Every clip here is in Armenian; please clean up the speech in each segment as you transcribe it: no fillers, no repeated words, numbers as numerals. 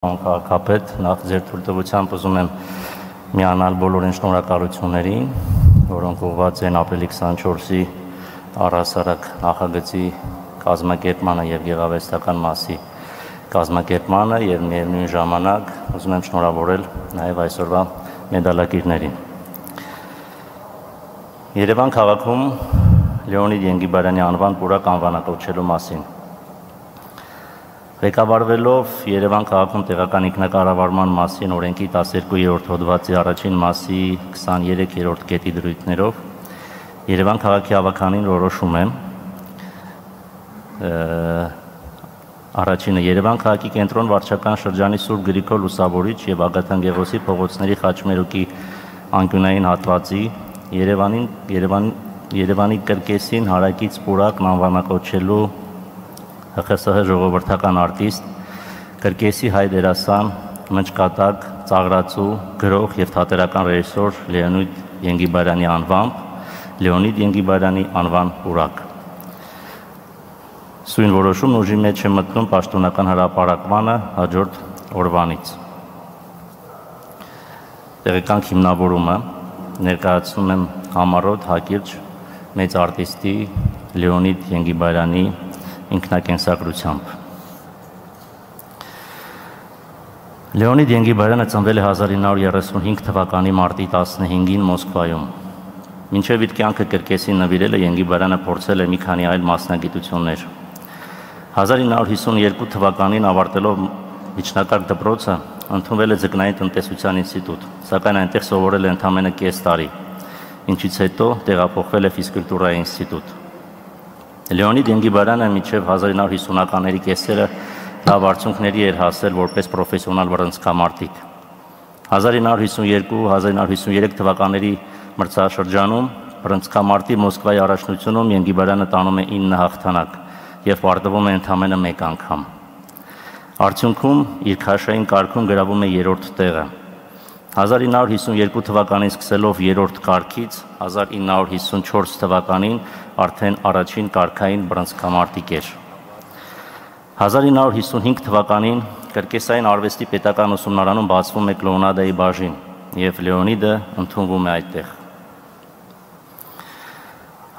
Քաղաքապետ, նախ ձեր թույլտվությամբ ուզում եմ միանալ բոլորին շնորհակալություններին, որոնք ուղղված են ապրիլի 24-ի առհասարակ նախագծի կազմակերպմանը եւ գեղարվեստական մասի կազմակերպմանը եւ միևնույն ժամանակ ուզում եմ շնորհավորել նաեւ այսօրվա մեդալակիրներին։ Երևան քաղաքում Լեոնիդ Ենգիբարյանի անվան պուրակ անվանակոչելու մասին։ Ղեկավարվելով Երևան քաղաքում տեղական ինքնակառավարման մասին օրենքի 12-րդ հոդվածի առաջին մասի 23-րդ կետի դրույթներով Երևան քաղաքի ավականին որոշում եմ առաջինը Երևան քաղաքի կենտրոն վարչական շրջանի Սուրբ Գրիգոր Լուսավորիչ եւ Ագաթան Գեղոսի փողոցների խաչմերուկի անկյունային հատվածի Երևանի կրկեսին հարակից պուրակն անվանակոչելու ՀԽՍՀ ժողովրդական արտիստ, կրկեսի հայ դերասան, մնճկատակ, ծաղրացու, գրող եւ թատերական ռեժիսոր Լեոնիդ Ենգիբարյանի անվամբ Լեոնիդ Ենգիբարյանի անվան պուրակ։ Սույն որոշումն ուժի մեջ է մտնում պաշտոնական հրապարակմանը հաջորդ օրվանից։ Տեղեկանք հիմնավորումը ներկայացնում եմ համառոտ հակիրճ մեծ արտիստի Լեոնիդ Ենգիբարյանի ինքնակենսագրությամբ։ Լեոնիդ Ենգիբարյանը ծնվել է 1935 թվականի մարտի 15-ին Մոսկվայում։ Մինչև իր կյանքը կրկեսին նվիրելը Ենգիբարյանը փորձել է մի քանի այլ մասնագիտություններ։ 1952 թվականին ավարտելով միջնակարգ դպրոցը ընդունվել է Ձկնային տնտեսության ինստիտուտ, սակայն այնտեղ սովորել է ընդամենը կես տարի, ինչից հետո տեղափոխվել է ֆիզկուլտուրայի ինստիտուտ։ Լեոնիդ Ենգիբարյանը մինչև 1950-ականների կեսերը լավ արդյունքների էր հասել որպես պրոֆեսիոնալ բռնցքամարտիկ։ 1952-1953 թվականների մրցաշրջանում բռնցքամարտի Մոսկվայի առաջնությունում Ենգիբարյանը տանում է 9 հաղթանակ եւ պարտվում է ընդամենը 1 անգամ։ Արդյունքում իր քաշային կարգում գրավում է 3-րդ տեղը։ 1952 թվականին սկսելով 3-րդ կարգից 1954 թվականին արդեն առաջին կարգային բռնցքամարտիկ էր։ 1955 թվականին Կրկեսային արվեստի պետական ուսումնարանում բացվում է կլոունադայի բաժին եւ Լեոնիդը ընդունվում է այդտեղ։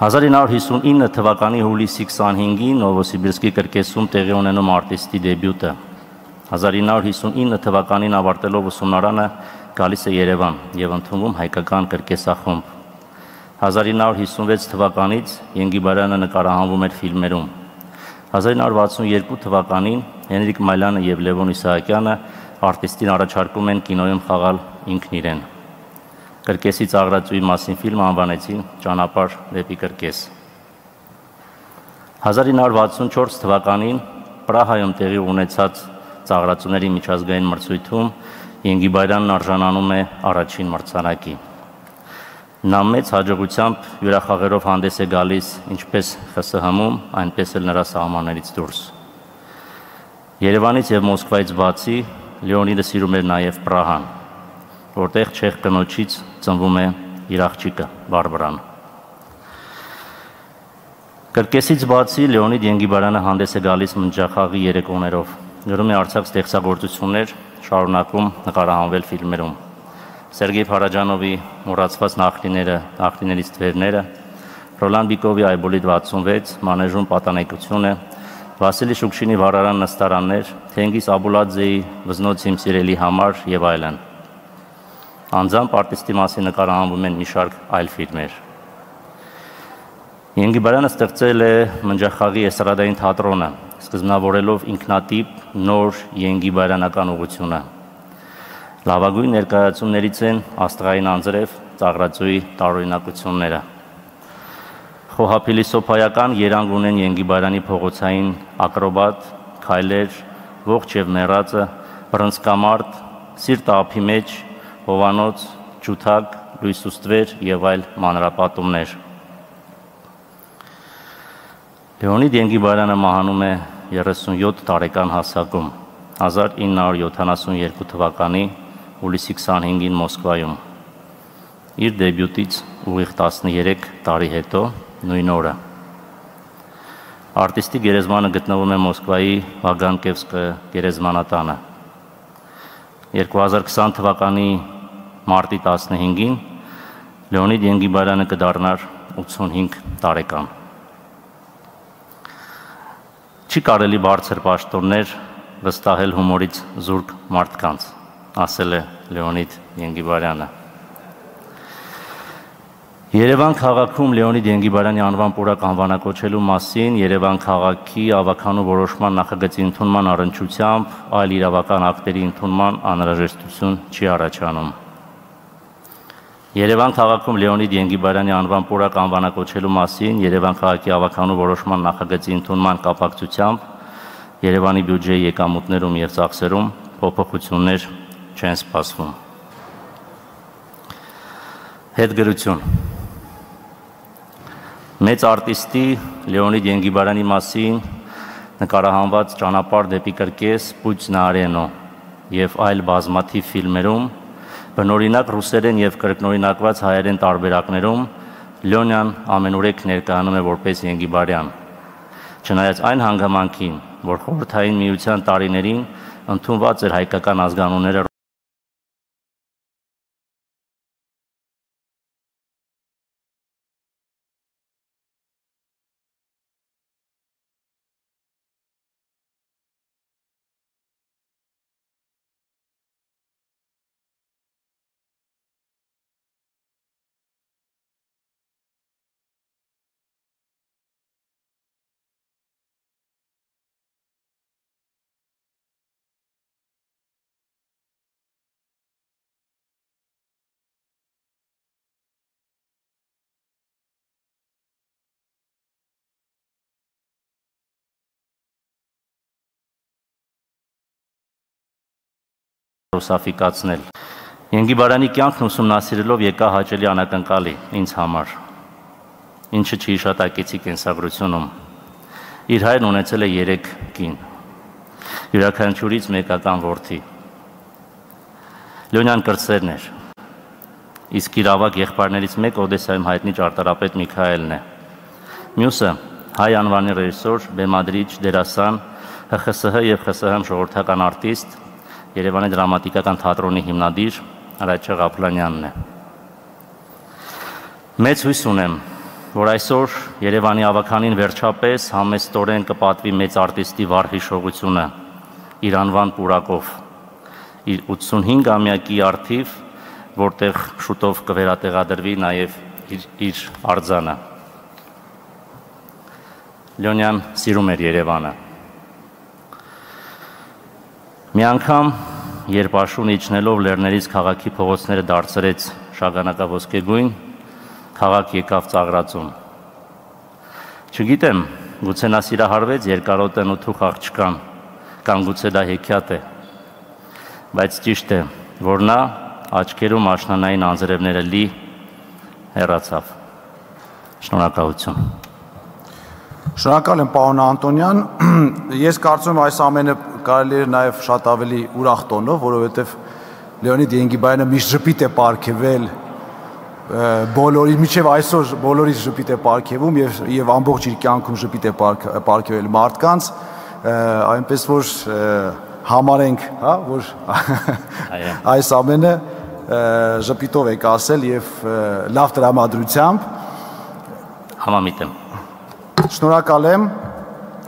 1959 թվականի հուլիսի 25-ին Նովոսիբիրսկի Կրկեսում տեղի ունենում արտիստի դեբյուտը։ 1959 թվականին ավարտելով ուսումնարանը գալիս է Երևան եւ ընդունվում հայկական կրկեսախումբ։ 1956 թվականից Ենգիբարյանը նկարահանվում էր ֆիլմերում։ 1962 թվականին Հենրիկ Մայլյանը եւ Լևոն Իսահակյանը արտիստին առաջարկում են կինոյում խաղալ ինքն իրեն։ Կրկեսի ծաղրացուի մասին ֆիլմը անվանեցին Ճանապարհ դեպի Կրկես։ 1964 թվականին Պրահայում տեղի ունեցած ծաղրացուների միջազգային մրցույթում Ենգիբարյանն արժանանում է առաջին մրցանակի։ Նա մեծ հաջողությամբ յուրախաղերով հանդես է գալիս ինչպես ԽՍՀՄ-ում, այնպես էլ նրա սահմաններից դուրս։ Երևանից եւ Մոսկվայից բացի Լեոնիդը սիրում էր նաեւ Պրահան, որտեղ չեխ կնոջից ծնվում է իր աղջիկը Բարբարան։ Կրկեսից բացի Լեոնիդ Ենգիբարյանը հանդես է գալիս մնջախաղի երեկոներով, գրում է արձակ ստեղծագործություններ, շարունակում նկարահանվել ֆիլմերում։ Սերգեյ Փարաջանովի մոռացված նախնիներից թվերները, Ռոլան Բիկովի Այբոլիտ 66, Մանեժում պատանեկությունը, Վասիլի Շուկշինի վառարան նստարաններ, Թենգիզ Աբուլաձեի Վզնոց իմ սիրելի համար եւ այլն։ Անձամբ արտիստի մասին նկարահանվում են մի շարք այլ ֆիլմեր։ Ենգիբարյանը ստեղծել է մնջախաղի էստրադային թատրոնը, սկզբնավորելով ինքնատիպ նոր Ենգիբարյանական ուղղությունը։ Լավագույն ներկայացումներից են Աստղային անձրև, ծաղրացուի տարօրինակությունները։ Խոհափիլիսոփայական երանգ ունեն Ենգիբարյանի փողոցային ակրոբատ, քայլեր, ողջ եւ մեռածը, բռնցքամարտ, սիրտը ափի մեջ, հովանոց, ջութակ, լույսուստվեր եւ այլ մանրապատումներ։ Լեոնիդ Ենգիբարյանը մահանում է 37 տարեկան հասակում 1972 թվականի հուլիսի 25-ին Մոսկվայում։ Իր դեբյուտից ուղիղ 13 տարի հետո նույն օրը։ Արտիստի գերեզմանը գտնվում է Մոսկվայի Վագանկևսկը գերեզմանատանը։ 2020 թվականի մարտի 15-ին Լեոնիդ Ենգիբարյանը կդառնար 85 տարեկան։ Չի կարելի բարձր պաշտոններ վստահել հումորից զուրկ մարդկանց, ասել է Լեոնիդ Ենգիբարյանը։ Երևան քաղաքում Լեոնիդ Ենգիբարյանի անվան պուրակ անվանակոչելու մասին Երևան քաղաքի ավականու որոշման նախագծի ընդունման առնչությամբ այլ իրավական ակտերի ընդունման անհրաժեշտություն չի առաջանում։ Երևան քաղաքում Լեոնիդ Ենգիբարյանի անվան պուրակ անվանակոչելու մասին Երևան քաղաքի ավականու որոշման նախագծի ընդունման կապակցությամբ Երևանի բյուջեի եկամուտներում և ծախսերում փոփոխություններ չեն սպասվում։ Հետգրություն։ Մեծ արտիստի Լեոնիդ Ենգիբարյանի մասին նկարահանված «Ճանապարհ դեպի կրկես», «Պուչ на арену» և այլ բազմաթիվ ֆիլմերում բնօրինակ ռուսերեն և կրկնօրինակված հայերեն տարբերակներում Լյոնյան ամենուրեք ներկայանում է որպես Ենգիբարյան, չնայած այն հանգամանքին, որ Խորհրդային Միության տարիներին ընդունված էր հայկական ազգանունները ռուսաֆիկացնել։ Ենգիբարյանի կյանքն ուսումնասիրելով եկա հաճելի անակնկալի ինձ համար, ինչը չի հիշատակեցի կենսագրությունում։ Իր հայրն ունեցել է 3 կին, յուրաքանչյուրից մեկական որդի։ Լյոնյան կրտսերն էր, իսկ իր ավագ եղբայրներից մեկը Օդեսայում հայտնի ճարտարապետ Միքայելն է։ Մյուսը հայ անվանի ռեժիսոր, բեմադրիչ, դերասան, ՀԽՍՀ և ԽՍՀՄ ժողովրդական արտիստ, Երևանի դրամատիկական թատրոնի հիմնադիր Արայչա Ղափլանյանն է։ Մեծ հույս ունեմ, որ այսօր Երևանի ավականին վերջապես համեստորեն կպատվի մեծ արտիստի վառ հիշողությունը իր անվան պուրակով, իր 85-ամյակի առթիվ, որտեղ շուտով կվերատեղադրվի նաև իր արձանը։ Լյոնյան սիրում էր Երևանը։ Մի անգամ, երբ աշուն իջնելով լեռներից քաղաքի փողոցները դարձրեց շագանակավորսկեգույն, քաղաք եկավ ծաղրածուն։ Չգիտեմ, գուցե նա սիրահարվեց երկարոտեն ու թուխ աղջկան, կամ գուցե դա հեքիաթ է, բայց ճիշտ է, որ նա աչքերում աշնանային անձրևները լի հեռացավ։ Շնորհակալություն։ Շնորհակալ եմ, պարոն Անտոնյան։ Ես կարծում եմ այս ամենը կարելի է նաև շատ ավելի ուրախ տոնով, որովհետև Լեոնիդ Ենգիբարյանը միշտ ժպիտ է պարգևել բոլորի, մինչև այսօր բոլորից ժպիտ է պարգևում եւ ամբողջ իր կյանքում ժպիտ է պարգևել մարդկանց, այնպես որ համարենք, հա, որ այս ամենը ժպիտով եք ասել եւ լավ տրամադրությամբ։ Համամիտ եմ։ Շնորհակալ եմ։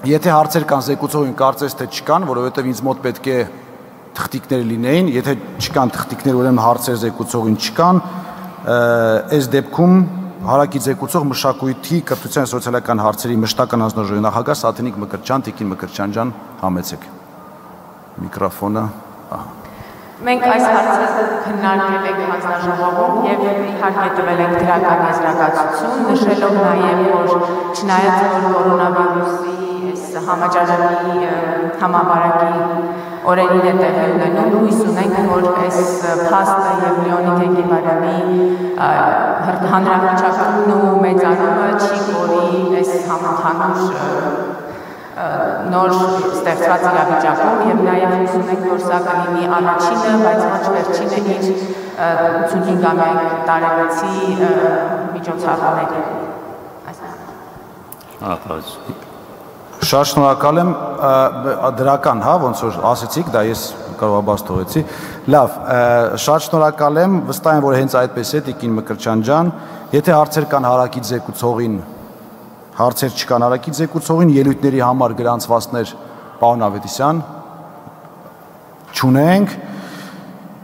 Եթե հարցեր կան զեկուցողին, կարծես թե չկան, որովհետև ինձ մոտ պետք է թղթիկներ լինեին, եթե չկան թղթիկներ, ուրեմն հարցեր զեկուցողին չկան, այս դեպքում հարակի զեկուցող մշակույթի, կրթության և սոցիալական հարցերի մշտական հանձնաժողովի նախագահ Սաթենիկ Մկրտչյան, Տիկին Մկրտչյան ջան, համեցեք միկրոֆոնը։ Մենք այս հարցը քննարկել ենք հանձնաժողովում եւ իհարկե տվել ենք դրական եզրակացություն, նշելով նաեւ, որ չնայած որ կորոնավիրուսի այս համաճարակի համավարակի օրերին է տեղի ունենում, հույս ունենք, որ այս փաստը եւ Լեոնիդ Ենգիբարյանի հանրահռչակումն ու մեծանումը չի կորի այս համընդհանուր նոր ստեղծված իրավիճակում եւ նաեւ հույս ունենք, որ սա կլինի առաջինը, բայց ոչ վերջինը իր 85-ամյա տարելիցի միջոցառումների։ Շատ շնորհակալ եմ, դրական, հա, ոնց որ ասեցիք, դա ես կարգավորված թողեցի։ Լավ, շատ շնորհակալ եմ, վստահ եմ, որ հենց այդպես է Տիկին Մկրտչյան ջան, եթե հարցեր կան հարակից զեկուցողին, հարցեր չկան հարակից զեկուցողին, ելույթների համար գրանցվածքներ պարոն Ավետիսյան չունենք։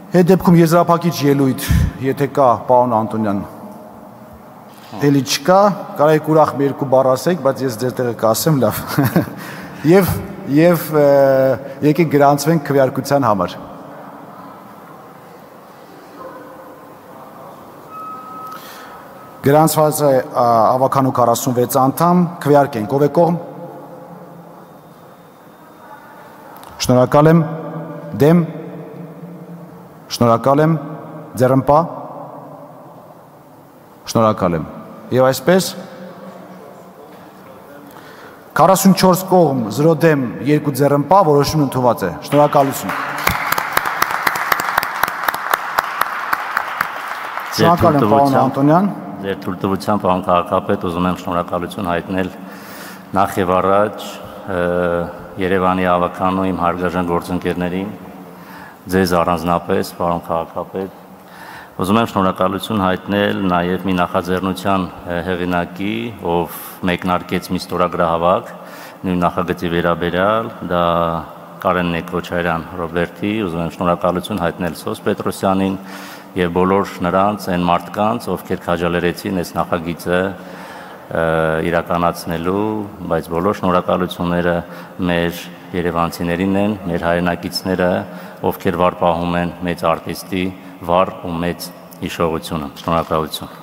Այդ դեպքում եզրափակիչ ելույթ, եթե կա, պարոն Անտոնյան, էլի չկա, կարող եք ուրախ մի երկու բառ ասեք, բայց ես ձեր տեղը կասեմ, լավ։ Եվ եկեք գրանցվենք քվեարկության համար։ Գրանցված է ավականու 46 անդամ, քվեարկենք, ով է կողմ։ Շնորհակալ եմ, դեմ։ Շնորհակալ եմ, ձեռնպա։ Շնորհակալ եմ։ Եվ այսպես 44 կողմ, 0 դեմ, 2 ձեռնպա, որոշումն ընդունված է։ Շնորհակալություն։ Շնորհակալ եմ, պարոն Անտոնյան։ Ձեր թույլտվությամբ, պարոն քաղաքապետ, ուզում եմ շնորհակալություն հայտնել նախ եւ առաջ Երևանի ավականու իմ հարգարժան գործընկերներին, ձեզ առանձնապես, պարոն քաղաքապետ, ուզում եմ շնորհակալություն հայտնել նաև մի նախաձեռնության հեղինակի, ով մեկնարկեց մի ստորագրահավաք նույն նախագծի վերաբերյալ, դա Կարեն Նեկոչարյան Ռոբերտի, ուզում եմ շնորհակալություն հայտնել Սոս Պետրոսյանին եւ բոլոր նրանց այն մարդկանց, ովքեր քաջալերեցին այս նախագիծը իրականացնելու, բայց բոլոր շնորհակալությունները մեր երևանցիներին են, մեր հայրենակիցները, ովքեր վար պահում են մեծ արտիստի վառ ու մեծ հիշողությունը։ Շնորհակալություն։